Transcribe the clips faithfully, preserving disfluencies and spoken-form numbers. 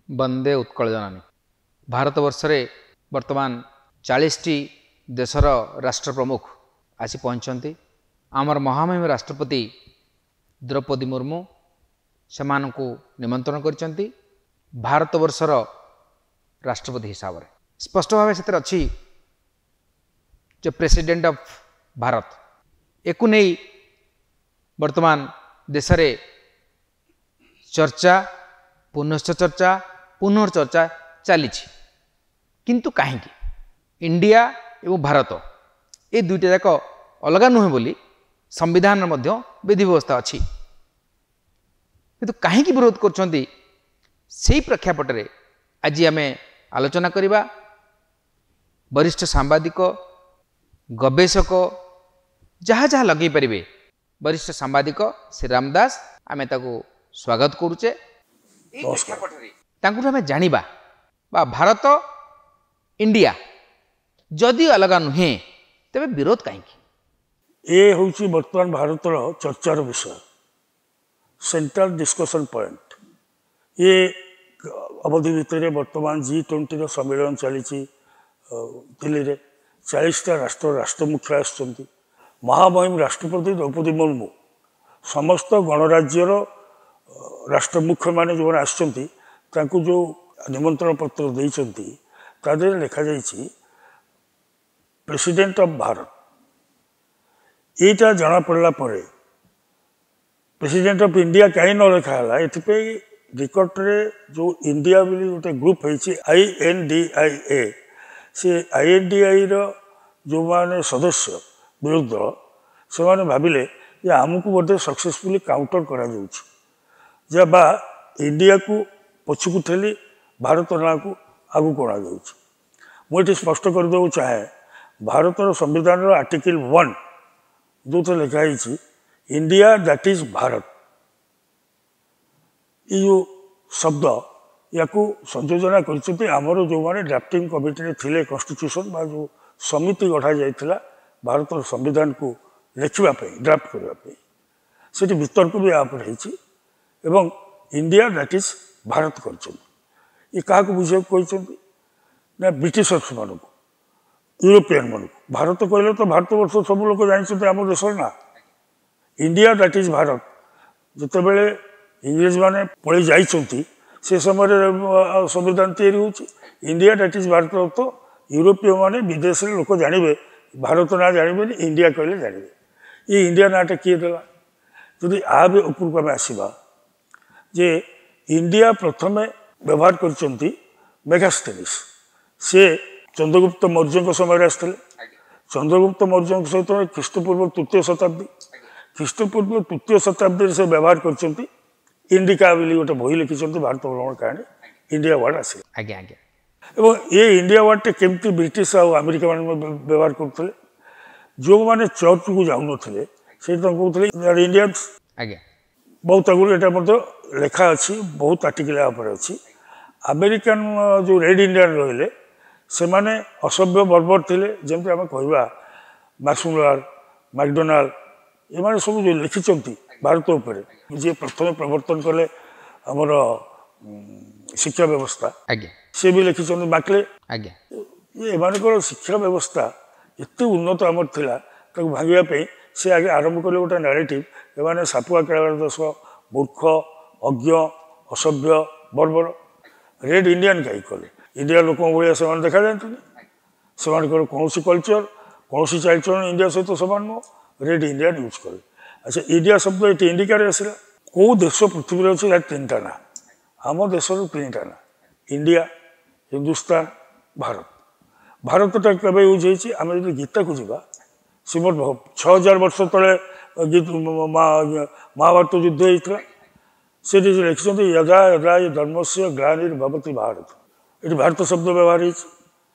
ବନ୍ଦେ ଉତ୍କଳ ଜନନୀ। ଭାରତବର୍ଷରେ ବର୍ତ୍ତମାନ ଚାଳିଶଟି ଦେଶର ରାଷ୍ଟ୍ର ପ୍ରମୁଖ ଆସି ପହଞ୍ଚିଛନ୍ତି। ଆମର ମହାମହିମ ରାଷ୍ଟ୍ରପତି ଦ୍ରୌପଦୀ ମୁର୍ମୁ ସେମାନଙ୍କୁ ନିମନ୍ତ୍ରଣ କରିଛନ୍ତି ଭାରତବର୍ଷର ରାଷ୍ଟ୍ରପତି ହିସାବରେ। ସ୍ପଷ୍ଟ ଭାବେ ସେଥିରେ ଅଛି ଯେ ପ୍ରେସିଡେଣ୍ଟ ଅଫ୍ ଭାରତ। ଏକୁ ନେଇ ବର୍ତ୍ତମାନ ଦେଶରେ ଚର୍ଚ୍ଚା, ପୁନଶ୍ଚ ଚର୍ଚ୍ଚା, ପୁନର୍ଚର୍ଚ୍ଚା ଚାଲିଛି। କିନ୍ତୁ କାହିଁକି ଇଣ୍ଡିଆ ଏବଂ ଭାରତ ଏ ଦୁଇଟା ଯାକ ଅଲଗା ନୁହେଁ ବୋଲି ସମ୍ବିଧାନର ମଧ୍ୟ ବିଧି ବ୍ୟବସ୍ଥା ଅଛି, କିନ୍ତୁ କାହିଁକି ବିରୋଧ କରୁଛନ୍ତି ସେଇ ପ୍ରେକ୍ଷାପଟରେ ଆଜି ଆମେ ଆଲୋଚନା କରିବା। ବରିଷ୍ଠ ସାମ୍ବାଦିକ, ଗବେଷକ, ଯାହା ଯାହା ଲଗେଇ ପାରିବେ, ବରିଷ୍ଠ ସାମ୍ବାଦିକ ଶ୍ରୀରାମ ଦାସ, ଆମେ ତାକୁ ସ୍ୱାଗତ କରୁଛେ। ତାଙ୍କଠୁ ଆମେ ଜାଣିବା ବା ଭାରତ ଇଣ୍ଡିଆ ଯଦି ଅଲଗା ନୁହେଁ ତେବେ ବିରୋଧ କାହିଁକି? ଏ ହେଉଛି ବର୍ତ୍ତମାନ ଭାରତର ଚର୍ଚ୍ଚାର ବିଷୟ, ସେଣ୍ଟ୍ରାଲ ଡିସ୍କସନ୍ ପଏଣ୍ଟ। ଏ ଅବଧି ଭିତରେ ବର୍ତ୍ତମାନ ଜି ଟ୍ୱେଣ୍ଟିର ସମ୍ମିଳନୀ ଚାଲିଛି ଦିଲ୍ଲୀରେ। ଚାଳିଶଟା ରାଷ୍ଟ୍ର ରାଷ୍ଟ୍ରମୁଖ୍ୟ ଆସିଛନ୍ତି। ମହାମହିମ ରାଷ୍ଟ୍ରପତି ଦ୍ରୌପଦୀ ମୁର୍ମୁ ସମସ୍ତ ଗଣରାଜ୍ୟର ରାଷ୍ଟ୍ରମୁଖ୍ୟମାନେ ଯେଉଁମାନେ ଆସିଛନ୍ତି ତାଙ୍କୁ ଯେଉଁ ନିମନ୍ତ୍ରଣ ପତ୍ର ଦେଇଛନ୍ତି ତା ଦେହରେ ଲେଖାଯାଇଛି ପ୍ରେସିଡେଣ୍ଟ ଅଫ୍ ଭାରତ। ଏଇଟା ଜଣାପଡ଼ିଲା ପରେ ପ୍ରେସିଡେଣ୍ଟ ଅଫ୍ ଇଣ୍ଡିଆ କାହିଁ ନ ଲେଖା ହେଲା, ଏଥିପାଇଁ ନିକଟରେ ଯେଉଁ ଇଣ୍ଡିଆ ବୋଲି ଗୋଟେ ଗ୍ରୁପ୍ ହେଇଛି I N D I A, ସେ I N D ଆଇର ଯେଉଁମାନେ ସଦସ୍ୟ ବିରୋଧୀ ଦଳ ସେମାନେ ଭାବିଲେ ଯେ ଆମକୁ ବୋଧେ ସକ୍ସେସଫୁଲି କାଉଣ୍ଟର କରାଯାଉଛି, ଯେ ବା ଇଣ୍ଡିଆକୁ ପଛକୁ ଠେଲି ଭାରତ ନାଁକୁ ଆଗକୁ ଅଣାଯାଉଛି। ମୁଁ ଏଠି ସ୍ପଷ୍ଟ କରିଦେବାକୁ ଚାହେଁ, ଭାରତର ସମ୍ବିଧାନର ଆର୍ଟିକିଲ୍ ୱାନ୍ ଯେଉଁଥିରେ ଲେଖା ହେଇଛି ଇଣ୍ଡିଆ that is Bharat, ଏଇ ଯେଉଁ ଶବ୍ଦ ୟାକୁ ସଂଯୋଜନା କରିଛନ୍ତି ଆମର ଯେଉଁମାନେ ଡ୍ରାଫ୍ଟିଂ କମିଟିରେ ଥିଲେ କନଷ୍ଟିଟ୍ୟୁସନ୍ ବା ଯେଉଁ ସମିତି ଗଢ଼ାଯାଇଥିଲା ଭାରତର ସମ୍ବିଧାନକୁ ଲେଖିବା ପାଇଁ, ଡ୍ରାଫ୍ଟ କରିବା ପାଇଁ, ସେଠି ବିତର୍କ ବି ୟା ଉପରେ ହେଇଛି ଏବଂ ଇଣ୍ଡିଆ that is Bharat କରିଛନ୍ତି। ଇଏ କାହାକୁ ବୁଝିବାକୁ କହିଛନ୍ତି ନା ବ୍ରିଟିଶର୍ସମାନଙ୍କୁ, ୟୁରୋପିଆନମାନଙ୍କୁ। ଭାରତ କହିଲେ ତ ଭାରତବର୍ଷ ସବୁ ଲୋକ ଜାଣିଛନ୍ତି ଆମ ଦେଶର ନା। ଇଣ୍ଡିଆ that is Bharat ଯେତେବେଳେ ଇଂରେଜମାନେ ପଳେଇ ଯାଇଛନ୍ତି ସେ ସମୟରେ ସମ୍ବିଧାନ ତିଆରି ହେଉଛି। ଇଣ୍ଡିଆ that is Bharat ତ ୟୁରୋପୀୟମାନେ ବିଦେଶରେ ଲୋକ ଜାଣିବେ, ଭାରତ ନାଁ ଜାଣିବେନି, ଇଣ୍ଡିଆ କହିଲେ ଜାଣିବେ। ଏ ଇଣ୍ଡିଆ ନାଁଟା କିଏ ଦେଲା? ଯଦି ଆ ବି ଉପରକୁ ଆମେ ଆସିବା ଯେ ଇଣ୍ଡିଆ ପ୍ରଥମେ ବ୍ୟବହାର କରିଛନ୍ତି ମେଗାସ୍ଥେନିସ୍, ସେ ଚନ୍ଦ୍ରଗୁପ୍ତ ମୌର୍ଯ୍ୟଙ୍କ ସମୟରେ ଆସିଥିଲେ। ଚନ୍ଦ୍ରଗୁପ୍ତ ମୌର୍ଯ୍ୟଙ୍କ ସହିତ ଖ୍ରୀଷ୍ଟପୂର୍ବ ତୃତୀୟ ଶତାବ୍ଦୀ, ଖ୍ରୀଷ୍ଟପୂର୍ବ ତୃତୀୟ ଶତାବ୍ଦୀରେ ସେ ବ୍ୟବହାର କରିଛନ୍ତି। ଇଣ୍ଡିକା ବୋଲି ଗୋଟେ ବହି ଲେଖିଛନ୍ତି, ଭାରତ ଭ୍ରମଣ କାହାଣୀ, ଇଣ୍ଡିଆ ୱାର୍ଡ଼ ଆସିଲା। ଆଜ୍ଞା ଆଜ୍ଞା। ଏବଂ ଏ ଇଣ୍ଡିଆ ୱାର୍ଡ଼ଟା କେମିତି ବ୍ରିଟିଶ ଆଉ ଆମେରିକାମାନେ ବ୍ୟବହାର କରୁଥିଲେ, ଯେଉଁମାନେ ଚର୍ଚ୍ଚକୁ ଯାଉନଥିଲେ ସେଇଠି ତାଙ୍କୁ କହୁଥିଲେ ଇଣ୍ଡିଆନ୍ସ। ଆଜ୍ଞା। ବହୁତ ଆଗରୁ ଏଇଟା ମଧ୍ୟ ଲେଖା ଅଛି, ବହୁତ ଆର୍ଟିକଲ ଏହା ଉପରେ ଅଛି। ଆମେରିକାନ ଯେଉଁ ରେଡ୍ ଇଣ୍ଡିଆନ୍ ରହିଲେ ସେମାନେ ଅସଭ୍ୟ ବର୍ବର ଥିଲେ, ଯେମିତି ଆମେ କହିବା ମ୍ୟାକ୍ସମୁଲର, ମ୍ୟାକଡୋନାଲ୍ଡ, ଏମାନେ ସବୁ ଯେଉଁ ଲେଖିଛନ୍ତି ଭାରତ ଉପରେ, ଯିଏ ପ୍ରଥମେ ପ୍ରବର୍ତ୍ତନ କଲେ ଆମର ଶିକ୍ଷା ବ୍ୟବସ୍ଥା, ଆଜ୍ଞା, ସେ ବି ଲେଖିଛନ୍ତି ମାକ୍ଲେ। ଆଜ୍ଞା। ଏମାନଙ୍କର ଶିକ୍ଷା ବ୍ୟବସ୍ଥା ଏତେ ଉନ୍ନତ ଆମର ଥିଲା, ତାକୁ ଭାଙ୍ଗିବା ପାଇଁ ସେ ଆଗେ ଆରମ୍ଭ କଲେ ଗୋଟେ ନାରେଟିଭ୍, ଏମାନେ ସାପୁଆ ଖେଳାର ଦୋଷ, ମୂର୍ଖ, ଅଜ୍ଞ, ଅସଭ୍ୟ, ବର୍ବର। ରେଡ୍ ଇଣ୍ଡିଆନ୍ କାହିଁକି କଲେ? ଇଣ୍ଡିଆ ଲୋକଙ୍କ ଭଳିଆ ସେମାନେ ଦେଖାଯାଆନ୍ତିନି, ସେମାନଙ୍କର କୌଣସି କଲଚର, କୌଣସି ଚାଲିଚଳନ ଇଣ୍ଡିଆ ସହିତ ସମାନ ନୁହଁ। ରେଡ୍ ଇଣ୍ଡିଆନ୍ ୟୁଜ୍ କଲେ। ଆଚ୍ଛା, ଇଣ୍ଡିଆ ଶବ୍ଦ ଏଠି ଇଣ୍ଡିକାରେ ଆସିଲା। କେଉଁ ଦେଶ ପୃଥିବୀରେ ଅଛି ତାର ତିନିଟା ନାଁ, ଆମ ଦେଶର ତିନିଟା ନାଁ, ଇଣ୍ଡିଆ, ହିନ୍ଦୁସ୍ତାନ, ଭାରତ। ଭାରତଟା କେବେ ୟୁଜ୍ ହେଇଛି? ଆମେ ଯଦି ଗୀତାକୁ ଯିବା, ଶ୍ରୀମଦ୍ ଛଅ ହଜାର ବର୍ଷ ତଳେ ମହାଭାରତ ଯୁଦ୍ଧ ହେଇଥିଲା, ସେଠି ଲେଖିଛନ୍ତି ଯଦା ଯଦା ହି ଧର୍ମସ୍ୟ ଗ୍ଲାନିର୍ଭବତି ଭାରତ। ଏଠି ଭାରତ ଶବ୍ଦ ବ୍ୟବହାର ହେଇଛି।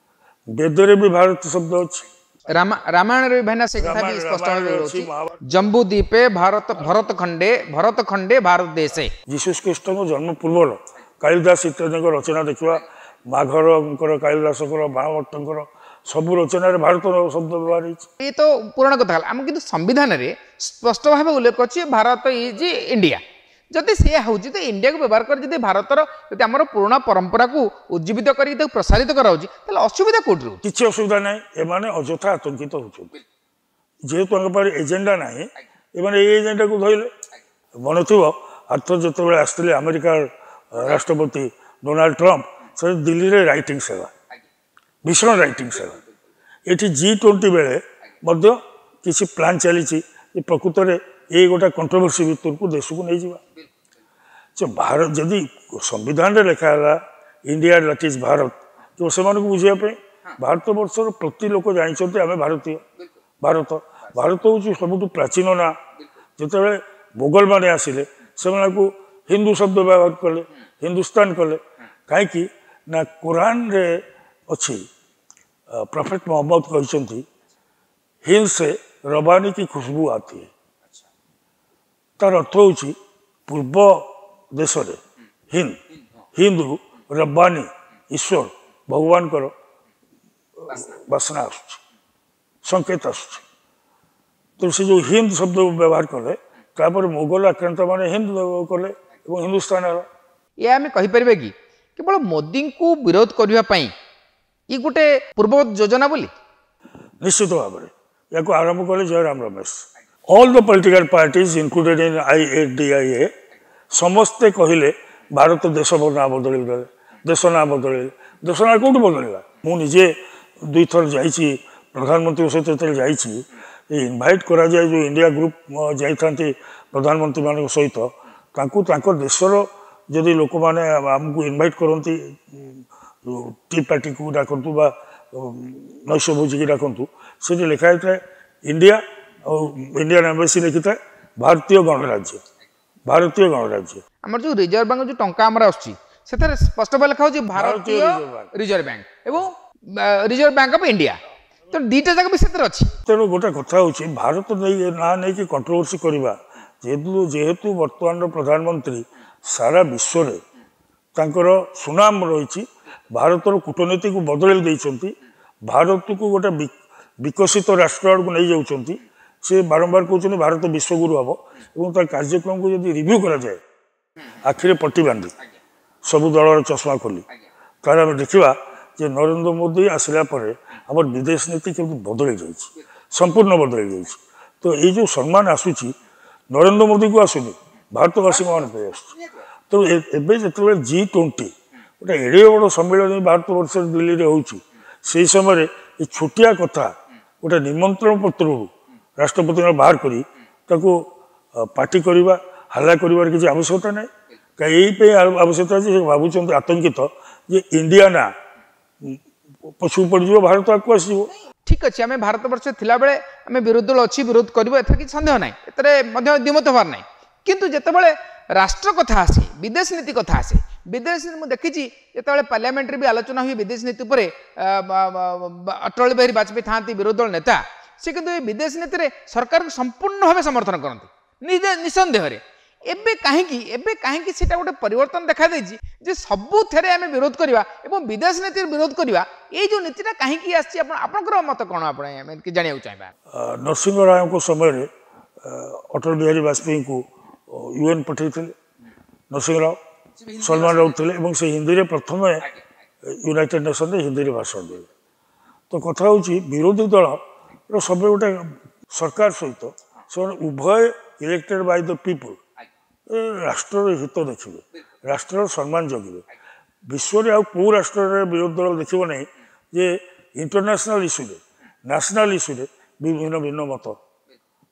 ବେଦରେ ବି ଭାରତ ଶବ୍ଦ ଅଛି। ରାମାୟଣରେ ବି ଭାଇନା ସେ କଥା ବି ସ୍ପଷ୍ଟ ଭାବେ ରହୁଛି, ଜମ୍ବୁ ଦ୍ୱୀପେ ଭାରତ ଭରତ ଖଣ୍ଡେ ଭରତ ଖଣ୍ଡେ ଭାରତ ଦେଶେ। ଯୀଶୁ ଖ୍ରୀଷ୍ଟଙ୍କ ଜନ୍ମ ପୂର୍ବର କାଳିଦାସ ଇତ୍ୟାଦିଙ୍କ ରଚନା ଦେଖିବା, ମାଘରଙ୍କର, କାଳିଦାସଙ୍କର, ବାଣଭଟ୍ଟଙ୍କର ସବୁ ରଚନାରେ ଭାରତ ଶବ୍ଦ ବ୍ୟବହାର ହେଇଛି। ଏ ତ ପୁରାଣ କଥା ହେଲା, ଆମ କିନ୍ତୁ ସମ୍ବିଧାନରେ ସ୍ପଷ୍ଟ ଭାବେ ଉଲ୍ଲେଖ ଅଛି ଭାରତ is India. ଯଦି ସେୟା ହେଉଛି ତ ଇଣ୍ଡିଆକୁ ବ୍ୟବହାର କରି ଯଦି ଭାରତର ଯଦି ଆମର ପୁରୁଣା ପରମ୍ପରାକୁ ଉଜ୍ଜୀବିତ କରିକି ତାକୁ ପ୍ରସାରିତ କରାଯାଉଛି ତାହେଲେ ଅସୁବିଧା କୋଉଠି ରହୁଛି? କିଛି ଅସୁବିଧା ନାହିଁ। ଏମାନେ ଅଯଥା ଆତଙ୍କିତ ହେଉଛନ୍ତି, ଯେହେତୁ ତାଙ୍କ ପାଖରେ ଏଜେଣ୍ଡା ନାହିଁ, ଏମାନେ ଏଇ ଏଜେଣ୍ଡାକୁ ଧରିଲେ। ମନେ ଥିବ ଆରଥର ଯେତେବେଳେ ଆସିଥିଲେ ଆମେରିକାର ରାଷ୍ଟ୍ରପତି ଡୋନାଲ୍ଡ ଟ୍ରମ୍ପ, ସେ ଦିଲ୍ଲୀରେ ରାଇଟିଂସ୍ ହେଲା, ଭୀଷଣ ରାଇଟିଂସ୍ ହେଲା। ଏଠି ଜି ଟ୍ୱେଣ୍ଟି ବେଳେ ମଧ୍ୟ କିଛି ପ୍ଲାନ୍ ଚାଲିଛି ଯେ ପ୍ରକୃତରେ ଏଇ ଗୋଟେ କଣ୍ଟ୍ରୋଭର୍ସି ଭିତରକୁ ଦେଶକୁ ନେଇଯିବା। ଯେ ଭାରତ ଯଦି ସମ୍ବିଧାନରେ ଲେଖା ହେଲା ଇଣ୍ଡିଆ that is Bharat, ତ ସେମାନଙ୍କୁ ବୁଝିବା ପାଇଁ ଭାରତବର୍ଷର ପ୍ରତି ଲୋକ ଜାଣିଛନ୍ତି ଆମେ ଭାରତୀୟ। ଭାରତ ଭାରତ ହେଉଛି ସବୁଠୁ ପ୍ରାଚୀନ ନାଁ। ଯେତେବେଳେ ମୋଗଲମାନେ ଆସିଲେ ସେମାନଙ୍କୁ ହିନ୍ଦୁ ଶବ୍ଦ ବ୍ୟବହାର କଲେ, ହିନ୍ଦୁସ୍ତାନ କଲେ। କାହିଁକି ନା କୋରାନରେ ଅଛି, ପ୍ରଫେଟ ମହମ୍ମଦ କହିଛନ୍ତି ହିନ୍ଦ ସେ ରବାନୀ କି ଖୁସବୁ ଆତି ହେ। ତାର ଅର୍ଥ ହେଉଛି ପୂର୍ବ ଦେଶରେ ହିନ୍ଦ, ହିନ୍ଦରୁ ରବାନୀ ଈଶ୍ୱର ଭଗବାନଙ୍କର ବାସ୍ନା ଆସୁଛି, ସଂକେତ ଆସୁଛି। ତେଣୁ ସେ ଯେଉଁ ହିନ୍ଦ ଶବ୍ଦ ବ୍ୟବହାର କଲେ, ତାପରେ ମୋଗଲ ଆକ୍ରାନ୍ତମାନେ ହିନ୍ଦ କଲେ ଏବଂ ହିନ୍ଦୁସ୍ତାନ ହେଲା। ଏହା ଆମେ କହିପାରିବା କି କେବଳ ମୋଦିଙ୍କୁ ବିରୋଧ କରିବା ପାଇଁ ଇଏ ଗୋଟେ ପୂର୍ବ ଯୋଜନା ବୋଲି? ନିଶ୍ଚିତ ଭାବରେ ୟାକୁ ଆରମ୍ଭ କଲେ Jairam Ramesh. All the political parties included in I A D I A ସମସ୍ତେ କହିଲେ ଭାରତ ଦେଶ ନାଁ ବଦଳେଇ ଦେଲେ, ଦେଶ ନାଁ ବଦଳେଇଲେ। ଦେଶ ନାଁ କେଉଁଠି ବଦଳିଲା? ମୁଁ ନିଜେ ଦୁଇଥର ଯାଇଛି, ପ୍ରଧାନମନ୍ତ୍ରୀଙ୍କ ସହିତ ଯେତେବେଳେ ଯାଇଛି, ଏ ଇନଭାଇଟ୍ କରାଯାଏ ଯେଉଁ ଇଣ୍ଡିଆ ଗ୍ରୁପ୍ ଯାଇଥାନ୍ତି ପ୍ରଧାନମନ୍ତ୍ରୀମାନଙ୍କ ସହିତ, ତାଙ୍କୁ ତାଙ୍କ ଦେଶର ଯଦି ଲୋକମାନେ ଆମକୁ ଇନଭାଇଟ୍ କରନ୍ତି, ଟି ପାର୍ଟିକୁ ଡାକନ୍ତୁ ବା ନୈଶ ଭୋଜିକି ଡାକନ୍ତୁ, ସେଠି ଲେଖା ହେଇଥାଏ ଇଣ୍ଡିଆ ଆଉ ଇଣ୍ଡିଆନ୍ ଏମ୍ବାସି ଲେଖିଥାଏ ଭାରତୀୟ ଗଣରାଜ୍ୟ, ଭାରତୀୟ ଗଣରାଜ୍ୟ। ଆମର ଯେଉଁ ରିଜର୍ଭ ବ୍ୟାଙ୍କ ଯେଉଁ ଟଙ୍କା ଆମର ଆସୁଛି ସେଥିରେ ସ୍ପଷ୍ଟ ଭାବେ ଲେଖା ହେଉଛି ଭାରତୀୟ ରିଜର୍ଭ ବ୍ୟାଙ୍କ ଏବଂ ରିଜର୍ଭ ବ୍ୟାଙ୍କ ଅଫ୍ ଇଣ୍ଡିଆ, ତ ଦୁଇଟା ଯାକ ବି ସେଥିରେ ଅଛି। ତେଣୁ ଗୋଟେ କଥା ହେଉଛି ଭାରତ ନେଇ ନାଁ ନେଇକି କଣ୍ଟ୍ରୋଭର୍ସି କରିବା, ଯେହେତୁ ଯେହେତୁ ବର୍ତ୍ତମାନର ପ୍ରଧାନମନ୍ତ୍ରୀ ସାରା ବିଶ୍ୱରେ ତାଙ୍କର ସୁନାମ ରହିଛି, ଭାରତର କୂଟନୀତିକୁ ବଦଳାଇ ଦେଇଛନ୍ତି, ଭାରତକୁ ଗୋଟେ ବିକଶିତ ରାଷ୍ଟ୍ର ଆଡ଼କୁ ନେଇଯାଉଛନ୍ତି। ସେ ବାରମ୍ବାର କହୁଛନ୍ତି ଭାରତ ବିଶ୍ୱଗୁରୁ ହେବ, ଏବଂ ତା କାର୍ଯ୍ୟକ୍ରମକୁ ଯଦି ରିଭ୍ୟୁ କରାଯାଏ ଆଖିରେ ପଟି ବାନ୍ଧି ସବୁ ଦଳର ଚଷମା ଖୋଲି, ତାହେଲେ ଆମେ ଦେଖିବା ଯେ ନରେନ୍ଦ୍ର ମୋଦି ଆସିଲା ପରେ ଆମର ବିଦେଶ ନୀତି କେମିତି ବଦଳି ଯାଇଛି, ସମ୍ପୂର୍ଣ୍ଣ ବଦଳି ଯାଇଛି। ତ ଏଇ ଯେଉଁ ସମ୍ମାନ ଆସୁଛି ନରେନ୍ଦ୍ର ମୋଦିକୁ ଆସୁନି, ଭାରତବାସୀଙ୍କ ମାନଙ୍କ ପାଇଁ ଆସୁଛି। ତେଣୁ ଏବେ ଯେତେବେଳେ ଜି ଟ୍ୱେଣ୍ଟି ଗୋଟେ ଏଡ଼େ ବଡ଼ ସମ୍ମିଳନୀ ଭାରତବର୍ଷରେ ଦିଲ୍ଲୀରେ ହେଉଛି, ସେଇ ସମୟରେ ଏ ଛୋଟିଆ କଥା ଗୋଟେ ନିମନ୍ତ୍ରଣ ପତ୍ରରୁ ରାଷ୍ଟ୍ରପତିଙ୍କ ବାହାର କରି ତାକୁ ପାର୍ଟି କରିବା, ହାଲ୍ଲା କରିବାର କିଛି ଆବଶ୍ୟକତା ନାହିଁ। କାହିଁ ଏଇ ପାଇଁ ଆବଶ୍ୟକତା ଅଛି, ସେ ଭାବୁଛନ୍ତି ଆତଙ୍କିତ ଯେ ଇଣ୍ଡିଆ ନା ପଛକୁ ପଡ଼ିଯିବ, ଭାରତ ଆଗକୁ ଆସିଯିବ। ଠିକ୍ ଅଛି, ଆମେ ଭାରତବର୍ଷ ଥିଲାବେଳେ ଆମେ ବିରୋଧୀ ଦଳ ଅଛି, ବିରୋଧ କରିବ, ଏଥିରେ କିଛି ସନ୍ଦେହ ନାହିଁ, ଏଥିରେ ମଧ୍ୟ ଦ୍ୱିମତ ହେବାର ନାହିଁ। କିନ୍ତୁ ଯେତେବେଳେ ରାଷ୍ଟ୍ର କଥା ଆସେ, ବିଦେଶ ନୀତି କଥା ଆସେ, ବିଦେଶ ମୁଁ ଦେଖିଛି ଯେତେବେଳେ ପାର୍ଲାମେଣ୍ଟରେ ବି ଆଲୋଚନା ହୁଏ ବିଦେଶ ନୀତି ଉପରେ, ଅଟଳ ବିହାରୀ ବାଜପେୟୀ ଥାଆନ୍ତି ବିରୋଧୀ ଦଳ ନେତା, ସେ କିନ୍ତୁ ଏ ବିଦେଶ ନୀତିରେ ସରକାରକୁ ସମ୍ପୂର୍ଣ୍ଣ ଭାବେ ସମର୍ଥନ କରନ୍ତି ନିଃସନ୍ଦେହରେ। ଏବେ କାହିଁକି ଏବେ କାହିଁକି ସେଇଟା ଗୋଟେ ପରିବର୍ତ୍ତନ ଦେଖାଦେଇଛି ଯେ ସବୁଥିରେ ଆମେ ବିରୋଧ କରିବା ଏବଂ ବିଦେଶ ନୀତିରେ ବିରୋଧ କରିବା, ଏଇ ଯେଉଁ ନୀତିଟା କାହିଁକି ଆସିଛି? ଆପଣ ଆପଣଙ୍କର ମତ କ'ଣ, ଆପଣ ଆମେ ଜାଣିବାକୁ ଚାହିଁବା। ନରସିଂହ ରାଓଙ୍କ ସମୟରେ ଅଟଳ ବିହାରୀ ବାଜପେୟୀଙ୍କୁ ୟୁଏନ୍ ପଠାଇଥିଲେ ନରସିଂହ ରାଓ, ସଲମାନ ରାଉତ ଥିଲେ, ଏବଂ ସେ ହିନ୍ଦୀରେ ପ୍ରଥମେ ୟୁନାଇଟେଡ୍ ନେସନରେ ହିନ୍ଦୀରେ ଭାଷଣ ଦେଲେ। ତ କଥା ହେଉଛି ବିରୋଧୀ ଦଳର ସବୁବେଳେ ଗୋଟେ ସରକାର ସହିତ ସେମାନେ ଉଭୟ ଇଲେକ୍ଟେଡ୍ ବାଇ ଦ ପିପୁଲ୍, ରାଷ୍ଟ୍ରର ହିତ ଦେଖିବେ, ରାଷ୍ଟ୍ରର ସମ୍ମାନ ଜଗିବେ। ବିଶ୍ୱରେ ଆଉ କେଉଁ ରାଷ୍ଟ୍ରରେ ବିରୋଧୀ ଦଳ ଦେଖିବ ନାହିଁ ଯେ ଇଣ୍ଟରନ୍ୟାସନାଲ୍ ଇସ୍ୟୁରେ, ନ୍ୟାସନାଲ୍ ଇସ୍ୟୁରେ ବିଭିନ୍ନ ଭିନ୍ନ ମତ।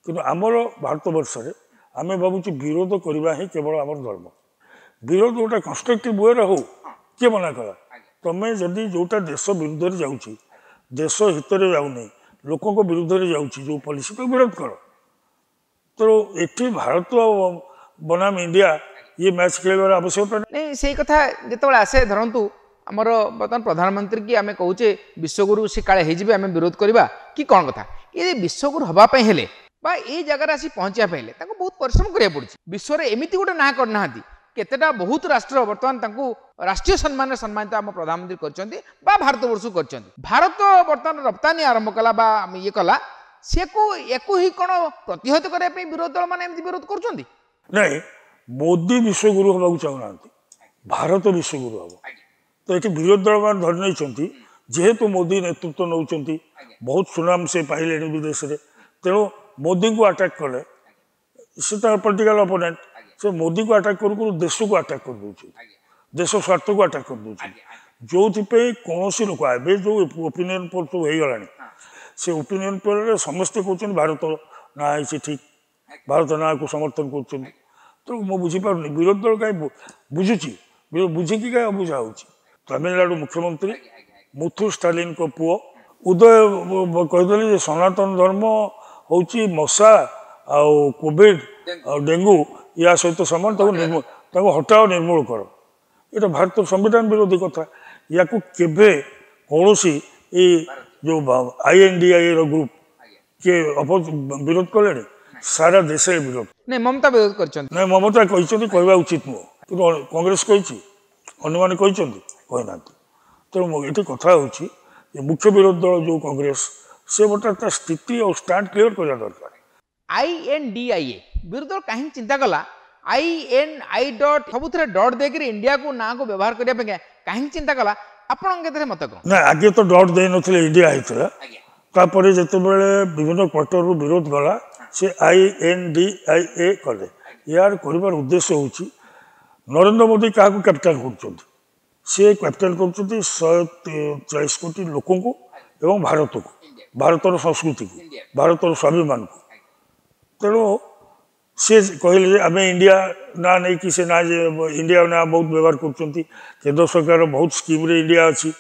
କିନ୍ତୁ ଆମର ଭାରତବର୍ଷରେ ଆମେ ଭାବୁଛୁ ବିରୋଧ କରିବା ହିଁ କେବଳ ଆମର ଧର୍ମ। ବିରୋଧ ଗୋଟେ କନଷ୍ଟ୍ରକ୍ଟିଭ୍ ୱେରେ ହଉ, କିଏ ମନା କଲା? ତମେ ଯଦି ଯେଉଁଟା ଦେଶ ବିରୁଦ୍ଧରେ ଯାଉଛି, ଦେଶ ହିତରେ ଯାଉନି, ଲୋକଙ୍କ ବିରୁଦ୍ଧରେ ଯାଉଛି ଯେଉଁ ପଲିସି, ତାକୁ ବିରୋଧ କର। ତେଣୁ ଏଠି ଭାରତ ବନାମ ଇଣ୍ଡିଆ ଇଏ ମ୍ୟାଚ୍ ଖେଳିବାର ଆବଶ୍ୟକତା ନାଇଁ। ସେଇ କଥା ଯେତେବେଳେ ଆସେ, ଧରନ୍ତୁ ଆମର ବର୍ତ୍ତମାନ ପ୍ରଧାନମନ୍ତ୍ରୀ କି ଆମେ କହୁଛେ ବିଶ୍ୱଗୁରୁ ସେ କାଳେ ହେଇଯିବେ, ଆମେ ବିରୋଧ କରିବା କି କ'ଣ କଥା? ଏ ବିଶ୍ୱଗୁରୁ ହେବା ପାଇଁ ହେଲେ ବା ଏଇ ଜାଗାରେ ଆସି ପହଞ୍ଚିବା ପାଇଁ ହେଲେ ତାଙ୍କୁ ବହୁତ ପରିଶ୍ରମ କରିବାକୁ ପଡ଼ୁଛି। ବିଶ୍ୱରେ ଏମିତି ଗୋଟେ ନାଁ କରିନାହାନ୍ତି, କେତେଟା ବହୁତ ରାଷ୍ଟ୍ର ବର୍ତ୍ତମାନ ତାଙ୍କୁ ରାଷ୍ଟ୍ରୀୟ ସମ୍ମାନରେ ସମ୍ମାନିତ ଆମ ପ୍ରଧାନମନ୍ତ୍ରୀ କରିଛନ୍ତି ବା ଭାରତବର୍ଷକୁ କରିଛନ୍ତି। ଭାରତ ବର୍ତ୍ତମାନ ରପ୍ତାନୀ ଆରମ୍ଭ କଲା ବା ଇଏ କଲା, ସେକୁ ୟାକୁ ହିଁ କ'ଣ ପ୍ରତିହତ କରିବା ପାଇଁ ବିରୋଧୀ ଦଳମାନେ ଏମିତି ବିରୋଧ କରୁଛନ୍ତି? ନାଇଁ, ମୋଦି ବିଶ୍ୱଗୁରୁ ହେବାକୁ ଚାହୁଁନାହାନ୍ତି, ଭାରତ ବିଶ୍ୱଗୁରୁ ହେବ। ତ ଏଠି ବିରୋଧୀ ଦଳମାନେ ଧରି ନେଇଛନ୍ତି, ଯେହେତୁ ମୋଦି ନେତୃତ୍ୱ ନେଉଛନ୍ତି, ବହୁତ ସୁନାମ ସେ ପାଇଲେଣି ବିଦେଶରେ, ତେଣୁ ମୋଦିଙ୍କୁ ଆଟାକ୍ କଲେ ସେ ତାର ପଲିଟିକାଲ ଅପୋନେଣ୍ଟ, ସେ ମୋଦିକୁ ଆଟାକ୍ କରୁ କରୁ ଦେଶକୁ ଆଟାକ୍ କରିଦେଉଛନ୍ତି, ଦେଶ ସ୍ୱାର୍ଥକୁ ଆଟାକ୍ କରିଦେଉଛନ୍ତି। ଯେଉଁଥିପାଇଁ କୌଣସି ଲୋକ ଏବେ ଯେଉଁ ଓପିନିଅନ୍ ପୋଲ୍ ସବୁ ହେଇଗଲାଣି, ସେ ଓପିନିଅନ୍ ପୋଲ୍ରେ ସମସ୍ତେ କହୁଛନ୍ତି ଭାରତ ନାଁ ହେଇଛି ଠିକ୍, ଭାରତ ନାଁକୁ ସମର୍ଥନ କରୁଛନ୍ତି। ତେଣୁ ମୁଁ ବୁଝିପାରୁନି ବିରୋଧୀ ଦଳ କାହିଁ ବୁଝୁଛି, ବୁଝିକି କାହିଁ ଅବୁଝା ହେଉଛି। ତାମିଲନାଡ଼ୁ ମୁଖ୍ୟମନ୍ତ୍ରୀ ମୁଥୁ ଷ୍ଟାଲିନଙ୍କ ପୁଅ ଉଦୟ କହିଦେଲେ ଯେ ସନାତନ ଧର୍ମ ହେଉଛି ମଶା ଆଉ କୋଭିଡ଼ ଆଉ ଡେଙ୍ଗୁ ୟା ସହିତ ସମାନ, ତାକୁ ତାକୁ ହଟାଅ, ନିର୍ମୂଳ କର। ଏଇଟା ଭାରତର ସମ୍ବିଧାନ ବିରୋଧୀ କଥା। ୟାକୁ କେବେ କୌଣସି ଏଇ ଯେଉଁ I N D I ର ଗ୍ରୁପ୍ କିଏ ବିରୋଧ କଲେଣି? ସାରା ଦେଶରେ ବିରୋଧ। ନାଇଁ, ମମତା ବିରୋଧ କରିଛନ୍ତି। ନାଇଁ, ମମତା କହିଛନ୍ତି, କହିବା ଉଚିତ ନୁହଁ, କିନ୍ତୁ କଂଗ୍ରେସ କହିଛି, ଅନ୍ୟମାନେ କହିଛନ୍ତି, କହିନାହାନ୍ତି। ତେଣୁ ଏଠି କଥା ହେଉଛି ଯେ ମୁଖ୍ୟ ବିରୋଧୀ ଦଳ ଯେଉଁ କଂଗ୍ରେସ, ସେ ବର୍ତ୍ତମାନ ତା ସ୍ଥିତି ଆଉ ଷ୍ଟାଣ୍ଡ କ୍ଲିୟର କରିବା ଦରକାର। I N D I A ବିରୋଧୀ ଦଳ କାହିଁକି ଚିନ୍ତା କଲା I N I dot ସବୁଥିରେ ଡଟ୍ ଦେଇକରି ଇଣ୍ଡିଆକୁ ନାଁକୁ ବ୍ୟବହାର କରିବା ପାଇଁ କାହିଁକି ଚିନ୍ତା କଲା? ଆପଣଙ୍କ କ୍ଷେତ୍ରରେ ମତ କ'ଣ? ନା, ଆଗେ ତ ଡଟ୍ ଦେଇନଥିଲେ, ଇଣ୍ଡିଆ ହେଇଥିଲା। ତାପରେ ଯେତେବେଳେ ବିଭିନ୍ନ କ୍ୱାର୍ଟରରୁ ବିରୋଧ ଗଲା, ସେ I N D I A କଲେ। ଏହାର କରିବାର ଉଦ୍ଦେଶ୍ୟ ହେଉଛି ନରେନ୍ଦ୍ର ମୋଦି କାହାକୁ କ୍ୟାପିଟାଲ କରୁଛନ୍ତି? ସେ କ୍ୟାପିଟାଲ କରୁଛନ୍ତି ଶହେ ଚାଳିଶ କୋଟି ଲୋକଙ୍କୁ ଏବଂ ଭାରତକୁ, ଭାରତର ସଂସ୍କୃତିକୁ, ଭାରତର ସ୍ୱାଭିମାନକୁ। ତେଣୁ ସେ କହିଲେ ଯେ ଆମେ ଇଣ୍ଡିଆ ନାଁ ନେଇକି, ସେ ନାଁ ଯେ ଇଣ୍ଡିଆ ନାଁ ବହୁତ ବ୍ୟବହାର କରୁଛନ୍ତି, କେନ୍ଦ୍ର ସରକାର ବହୁତ ସ୍କିମ୍ରେ ଇଣ୍ଡିଆ ଅଛି,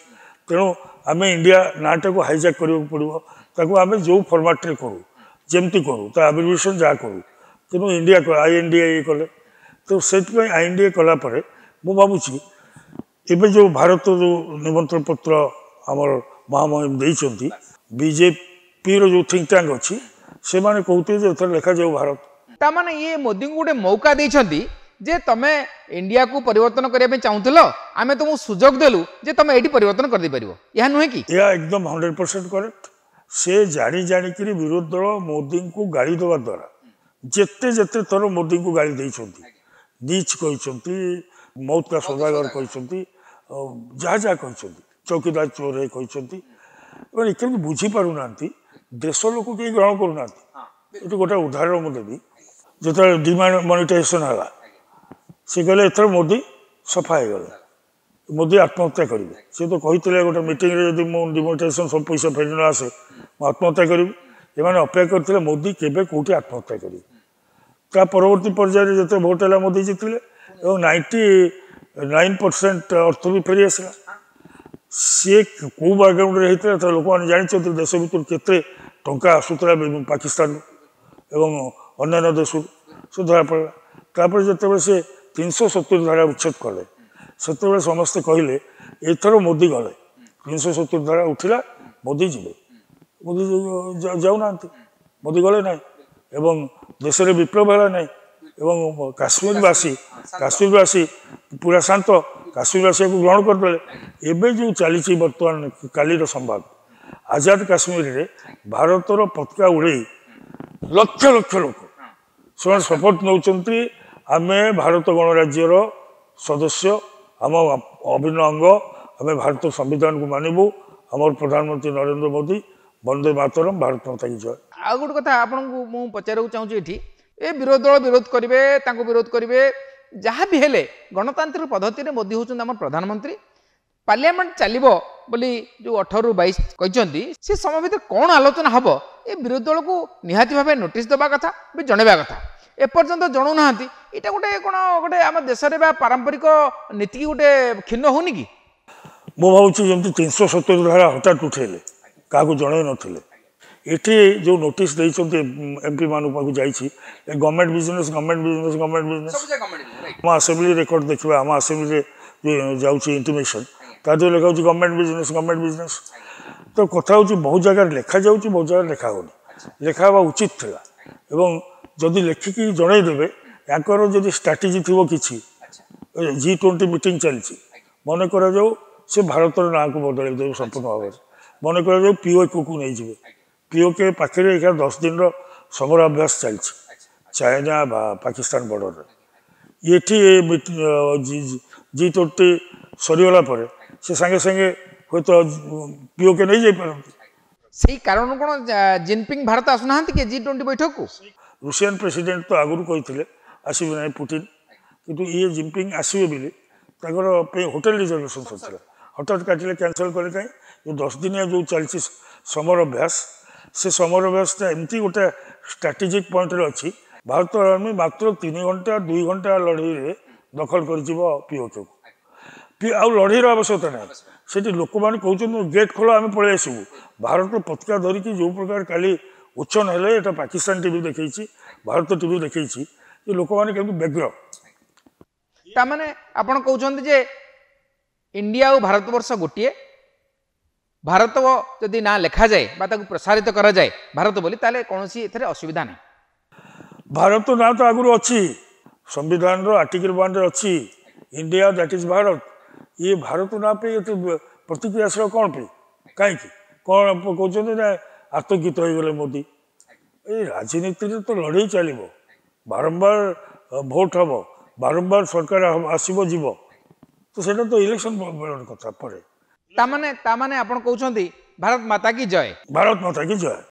ତେଣୁ ଆମେ ଇଣ୍ଡିଆ ନାଁଟାକୁ ହାଇଜାକ୍ କରିବାକୁ ପଡ଼ିବ। ତାକୁ ଆମେ ଯେଉଁ ଫର୍ମାଟ୍ରେ କରୁ, ଯେମିତି କରୁ, ତା ଆବ୍ରିଭିଏସନ୍ ଯାହା କରୁ, ତେଣୁ India I N D I କଲେ। ତ ସେଥିପାଇଁ I N D A କଲା ପରେ ମୁଁ ଭାବୁଛି ଏବେ ଯେଉଁ ଭାରତ ଯେଉଁ ନିମନ୍ତ୍ରଣ ପତ୍ର ଆମର ମହାମହିମ ଦେଇଛନ୍ତି, ବିଜେପିର ଯେଉଁ ଥିଙ୍କ ଟ୍ୟାଙ୍କ ଅଛି, ସେମାନେ କହୁଥିଲେ ଯେ ଏଥର ଲେଖାଯାଉ ଭାରତ। ତାମାନେ ଇଏ ମୋଦିଙ୍କୁ ଗୋଟେ ମୌକା ଦେଇଛନ୍ତି ଯେ ତମେ ଇଣ୍ଡିଆକୁ ପରିବର୍ତ୍ତନ କରିବା ପାଇଁ ଚାହୁଁଥିଲ, ଆମେ ତୁମକୁ ସୁଯୋଗ ଦେଲୁ ଯେ ତମେ ଏଇଠି ପରିବର୍ତ୍ତନ କରିଦେଇପାରିବ। ଏହା ନୁହେଁ କି? ଏହା ଏକଦମ ହଣ୍ଡ୍ରେଡ ପରସେଣ୍ଟ କରେକ୍ଟ। ସେ ଜାଣି ଜାଣିକିରି ବିରୋଧୀ ଦଳ ମୋଦିଙ୍କୁ ଗାଳି ଦେବା ଦ୍ୱାରା, ଯେତେ ଯେତେ ଥର ମୋଦିଙ୍କୁ ଗାଳି ଦେଇଛନ୍ତି, ନୀଚ କହିଛନ୍ତି, ମୌତ କା ସୌଦାଗର କହିଛନ୍ତି, ଯାହା ଯାହା କହିଛନ୍ତି, ଚୌକିଦାର ଚୋର କହିଛନ୍ତି, ଏମାନେ କେମିତି ବୁଝିପାରୁନାହାନ୍ତି, ଦେଶ ଲୋକ କେହି ଗ୍ରହଣ କରୁନାହାନ୍ତି। ଏଠି ଗୋଟେ ଉଦାହରଣ ମୁଁ ଦେବି। ଯେତେବେଳେ ଡିମନିଟାଇଜେସନ୍ ହେଲା, ସେ କହିଲେ ଏଥର ମୋଦି ସଫା ହେଇଗଲେ, ମୋଦି ଆତ୍ମହତ୍ୟା କରିବେ। ସେ ତ କହିଥିଲେ ଗୋଟେ ମିଟିଂରେ, ଯଦି ମୁଁ ଡିମନିଟାଇଜେସନ୍ ସବୁ ପଇସା ଫେରି ନ ଆସେ ମୁଁ ଆତ୍ମହତ୍ୟା କରିବି। ଏମାନେ ଅପେକ୍ଷା କରିଥିଲେ ମୋଦି କେବେ କେଉଁଠି ଆତ୍ମହତ୍ୟା କରିବେ। ତା ପରବର୍ତ୍ତୀ ପର୍ଯ୍ୟାୟରେ ଯେତେବେଳେ ଭୋଟ ହେଲା, ମୋଦି ଜିତିଲେ ଏବଂ ନାଇଣ୍ଟି ନାଇନ୍ ପରସେଣ୍ଟ ଅର୍ଥ ବି ଫେରି ଆସିଲା। ସିଏ କେଉଁ ବ୍ୟାକଗ୍ରାଉଣ୍ଡରେ ହେଇଥିଲା ତ ଲୋକମାନେ ଜାଣିଛନ୍ତି, ଦେଶ ଭିତରୁ କେତେ ଟଙ୍କା ଆସୁଥିଲା ପାକିସ୍ତାନରୁ ଏବଂ ଅନ୍ୟାନ୍ୟ ଦେଶରୁ, ସେ ଧରା ପଡ଼ିଲା। ତାପରେ ଯେତେବେଳେ ସେ ତିନିଶହ ସତୁରି ଧାରା ଉଚ୍ଛେଦ କଲେ, ସେତେବେଳେ ସମସ୍ତେ କହିଲେ ଏଥର ମୋଦି ଗଲେ, ତିନିଶହ ସତୁରି ଧାରା ଉଠିଲା, ମୋଦି ଯିବେ। ମୋଦି ଯାଉନାହାନ୍ତି, ମୋଦି ଗଲେ ନାହିଁ ଏବଂ ଦେଶରେ ବିପ୍ଳବ ହେଲା ନାହିଁ ଏବଂ କାଶ୍ମୀରବାସୀ କାଶ୍ମୀରବାସୀ ପୁରା ଶାନ୍ତ, କାଶ୍ମୀରବାସୀକୁ ଗ୍ରହଣ କରିଦେଲେ। ଏବେ ଯେଉଁ ଚାଲିଛି ବର୍ତ୍ତମାନ କାଲିର ସମ୍ବାଦ, ଆଜାଦ କାଶ୍ମୀରରେ ଭାରତର ପତାକା ଉଡ଼େଇ ଲକ୍ଷ ଲକ୍ଷ ଲୋକ ସେମାନେ ଶପଥ ନେଉଛନ୍ତି, ଆମେ ଭାରତ ଗଣରାଜ୍ୟର ସଦସ୍ୟ, ଆମ ଅଭିନ୍ନ ଅଙ୍ଗ, ଆମେ ଭାରତ ସମ୍ବିଧାନକୁ ମାନିବୁ, ଆମର ପ୍ରଧାନମନ୍ତ୍ରୀ ନରେନ୍ଦ୍ର ମୋଦି, ବନ୍ଦେ ମାତରମ୍, ଭାରତ ମାତା କି ଜୟ। ଆଉ ଗୋଟେ କଥା ଆପଣଙ୍କୁ ମୁଁ ପଚାରିବାକୁ ଚାହୁଁଛି, ଏଠି ଏ ବିରୋଧୀ ଦଳ ବିରୋଧ କରିବେ, ତାଙ୍କୁ ବିରୋଧ କରିବେ, ଯାହା ବି ହେଲେ ଗଣତାନ୍ତ୍ରିକ ପଦ୍ଧତିରେ ମୋଦି ହେଉଛନ୍ତି ଆମର ପ୍ରଧାନମନ୍ତ୍ରୀ, ପାର୍ଲିଆମେଣ୍ଟ ଚାଲିବ ବୋଲି ଯେଉଁ ଅଠରରୁ ବାଇଶ କହିଛନ୍ତି, ସେ ସମୟ ଭିତରେ କ'ଣ ଆଲୋଚନା ହେବ ଏ ବିରୋଧୀ ଦଳକୁ ନିହାତି ଭାବେ ନୋଟିସ୍ ଦେବା କଥା ବି ଜଣାଇବା କଥା, ଏପର୍ଯ୍ୟନ୍ତ ଜଣାଉନାହାନ୍ତି। ଏଇଟା ଗୋଟେ କ'ଣ ଗୋଟେ ଆମ ଦେଶରେ ବା ପାରମ୍ପରିକ ନୀତିକି ଗୋଟେ କ୍ଷୀଣ ହେଉନି କି? ମୁଁ ଭାବୁଛି ଯେମିତି ତିନିଶହ ସତୁରି ଧାରା ହଠାତ୍ ଉଠେଇଲେ, କାହାକୁ ଜଣାଇ ନଥିଲେ, ଏଠି ଯେଉଁ ନୋଟିସ୍ ଦେଇଛନ୍ତି ଏମ୍ପି ମାନଙ୍କ ପାଖକୁ ଯାଇଛି, ଏ government business, government business, government business. ଆମ ଆସେମ୍ବଲି ରେକର୍ଡ଼ ଦେଖିବା, ଆମ ଆସେମ୍ବଲିରେ ଯେଉଁ ଯାଉଛି ଇଣ୍ଟିମେସନ୍, ତା ଦେହରେ ଲେଖା ହେଉଛି ଗଭର୍ଣ୍ଣମେଣ୍ଟ ବିଜନେସ୍, ଗଭର୍ଣ୍ଣମେଣ୍ଟ ବିଜନେସ୍। ତ କଥା ହେଉଛି ବହୁତ ଜାଗାରେ ଲେଖାଯାଉଛି, ବହୁତ ଜାଗାରେ ଲେଖା ହେଉନି। ଲେଖା ହେବା ଉଚିତ ଥିଲା ଏବଂ ଯଦି ଲେଖିକି ଜଣାଇଦେବେ, ୟାଙ୍କର ଯଦି ଷ୍ଟ୍ରାଟେଜି ଥିବ କିଛି, ଜି ଟ୍ୱେଣ୍ଟି ମିଟିଂ ଚାଲିଛି, ମନେ କରାଯାଉ ସେ ଭାରତର ନାଁକୁ ବଦଳାଇ ଦେବେ ସମ୍ପୂର୍ଣ୍ଣ ଭାବରେ, ମନେ କରାଯାଉ ପିଓକେକୁ ନେଇଯିବେ, ପିଓକେ ପାଖରେ ଏଇଟା ଦଶ ଦିନର ସମରାଭ୍ୟାସ ଚାଲିଛି ଚାଇନା ବା ପାକିସ୍ତାନ ବର୍ଡ଼ରରେ, ଏଠି ଜି ଟ୍ୱେଣ୍ଟି ସରିଗଲା ପରେ ସେ ସାଙ୍ଗେ ସାଙ୍ଗେ ହୁଏତ ପିଓକେ ନେଇଯାଇପାରନ୍ତି। ସେଇ କାରଣ କ'ଣ ଜିନପିଙ୍ଗ ଭାରତ ଆସୁନାହାନ୍ତି କି ଜି ଟ୍ୱେଣ୍ଟି ବୈଠକକୁ? ରୁଷିଆନ ପ୍ରେସିଡେଣ୍ଟ ତ ଆଗରୁ କହିଥିଲେ ଆସିବେ ନାହିଁ ପୁଟିନ, କିନ୍ତୁ ଇଏ ଜିନପିଙ୍ଗ ଆସିବେ ବୋଲି ତାଙ୍କର ପାଇଁ ହୋଟେଲ ରିଜର୍ଭେସନ୍ ସରିଥିଲା, ହଠାତ୍ କାଟିଲେ, କ୍ୟାନସଲ୍ କଲେ। କାହିଁ ଯେଉଁ ଦଶ ଦିନିଆ ଯେଉଁ ଚାଲିଛି ସମର ଅଭ୍ୟାସ, ସେ ସମର ଅଭ୍ୟାସଟା ଏମିତି ଗୋଟେ ଷ୍ଟ୍ରାଟେଜିକ୍ ପଏଣ୍ଟରେ ଅଛି, ଭାରତ ଆର୍ମି ମାତ୍ର ତିନି ଘଣ୍ଟା ଦୁଇ ଘଣ୍ଟା ଲଢ଼େଇରେ ଦଖଲ କରିଯିବ ପିଓକେକୁ। ଆଉ ଲଢ଼େଇର ଆବଶ୍ୟକତା ନାହିଁ। ସେଠି ଲୋକମାନେ କହୁଛନ୍ତି ଗେଟ୍ ଖୋଲ, ଆମେ ପଳେଇ ଆସିବୁ। ଭାରତ ପତାକା ଧରିକି ଯେଉଁ ପ୍ରକାର କାଲି ଉଚ୍ଛନ ହେଲେ, ଏଇଟା ପାକିସ୍ତାନ ଟିଭି ଦେଖେଇଛି, ଭାରତ ଟିଭି ଦେଖେଇଛି ଯେ ଲୋକମାନେ କେମିତି ବ୍ୟଗ୍ର। ତାମାନେ ଆପଣ କହୁଛନ୍ତି ଯେ ଇଣ୍ଡିଆ ଆଉ ଭାରତବର୍ଷ ଗୋଟିଏ, ଭାରତ ଯଦି ନାଁ ଲେଖାଯାଏ ବା ତାକୁ ପ୍ରସାରିତ କରାଯାଏ ଭାରତ ବୋଲି, ତାହେଲେ କୌଣସି ଏଥିରେ ଅସୁବିଧା ନାହିଁ। ଭାରତ ନାଁ ତ ଆଗରୁ ଅଛି, ସମ୍ବିଧାନର ଆର୍ଟିକଲ ୱାନ୍ରେ ଅଛି ଇଣ୍ଡିଆ that is Bharat. ଇଏ ଭାରତ ନାଁ ପାଇଁ ଏତେ ପ୍ରତିକ୍ରିୟାଶୀଳ କ'ଣ ପାଇଁ, କାହିଁକି କ'ଣ କହୁଛନ୍ତି ନା ଆତଙ୍କିତ ହେଇଗଲେ ମୋଦି? ଏଇ ରାଜନୀତିରେ ତ ଲଢ଼େଇ ଚାଲିବ, ବାରମ୍ବାର ଭୋଟ ହେବ, ବାରମ୍ବାର ସରକାର ଆସିବ ଯିବ, ତ ସେଇଟା ତ ଇଲେକ୍ସନ ବେଳର କଥା ପରେ। ତାମାନେ ତାମାନେ ଆପଣ କହୁଛନ୍ତି ଭାରତ ମାତା କି ଜୟ, ଭାରତ ମାତା କି ଜୟ।